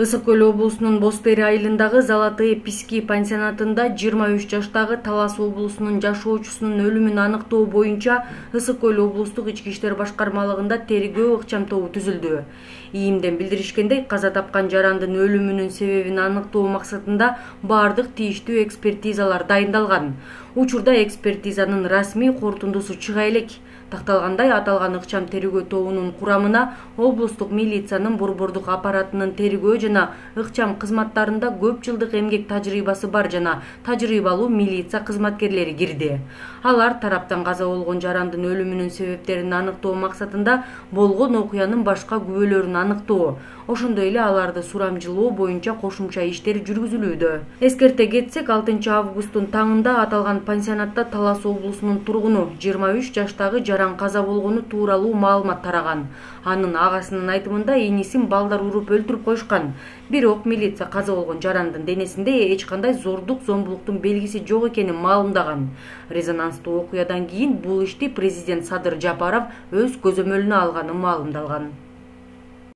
Ысык Көл облусунун Бостери айылындагы Золотые Пески пансионатында 23 жаштагы Талас облусунун жашоочусунун өлүмүн аныктоо боюнча Ысык Көл облустук ички иштер башкармалыгында тергөө ыкчам тобу түзүлдү. ИИМден билдиришкендей, каза тапкан жарандын өлүмүнүн себебин аныктоо максатында бардык тийиштүү экспертизалар дайындалган. Учурда экспертизанын расмий корутундусу чыга элек. Такталгандай, аталган ыкчам тергөө тобунун курамына облустук милициянын борбордук аппаратынын тергөө жана ыкчам кызматтарында көп жылдык эмгек тажрыйбасы бар жана тажрыйбалуу милиция кызматкерлери кирди. Алар тараптан каза болгон жарандын өлүмүнүн себептерин аныктоо максатында болгон окуянын башка күбөлөрүн аныктоо, ошондой эле аларды сурамжылоо боюнча кошумча иштер жүргүзүлүүдө. Эскерте кетсек, 6 августтун таңында аталган пансионатта Талас облусунун тургуну 23 жаштагы жаран каза болгону тууралуу маалымат тараган. Анын агасынын айтымында энисин балдар уруп өлтүрүп койушкан. Бирок милиция каза болгон жарандын денесинде эч кандай зордук зомбулуктун белгиси жок экенин маалымдаган. Резонанстуу окуядан кийин бул ишти президент Садыр Жапаров өз көзөмөлүнө алганы маалымдалган.